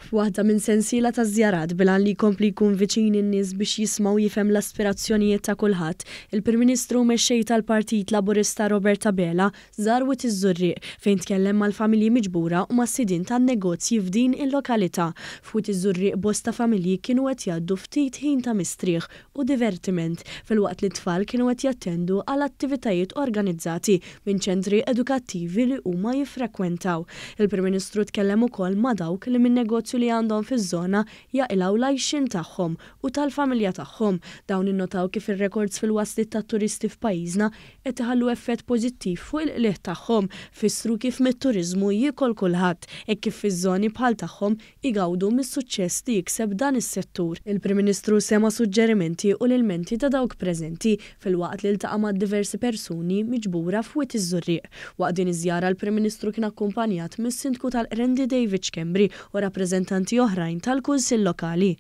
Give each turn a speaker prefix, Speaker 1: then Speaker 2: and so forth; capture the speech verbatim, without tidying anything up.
Speaker 1: F'waħda minn sensiela ta' żjarat bil-għan li jkompli jkun viċin in-nies biex jisma' u jifhem l-aspirazzjonijiet ta' kulħadd, il-Prim Ministru u Mexxej tal-Partit Laburista Robert Abela żar Wied iż-Żurrieq fejn tkellem mal-familji miġbura u mas-sidien tan-negozji f'din il-lokalità. F'Wied iż-Żurrieq bosta familji kienu qed jgħaddu ftit ħin ta' mistrieħ u divertiment filwaqt li t-tfal kienu qed jattendu għal attivitajiet organizzati minn ċentri edukattivi li huma jiffrekwentaw. Il-Prim Ministru tkellem ukoll ma' dawk li min-negozju li għandhom fiż-żona jaqilgħu l-għajxien tagħhom u tal-familja tagħhom. Dawn innotaw kif ir-rekords fil-wasliet tat-turisti f'pajjiżna qed iħallu effett pożittiv fuq il-qligħ tagħhom. Fissru kif mit-turiżmu jiekol kulħadd hekk kif fiż-żoni bħal tagħhom igawdu mis-suċċess li jikseb dan is-settur. Il-Prim Ministru sema' suġġerimenti u l-ilmenti ta' dawk preżenti filwaqt li ltaqa' ma' diversi persuni miġbura f'Wied iż-Żurrieq. Waqt din iż-żjara l-Prim Ministru kien akkumpanjat mis-Sindku tal-Qrendi David Schembri u rappreżentanti oħrajn tal-Kunsill Lokali.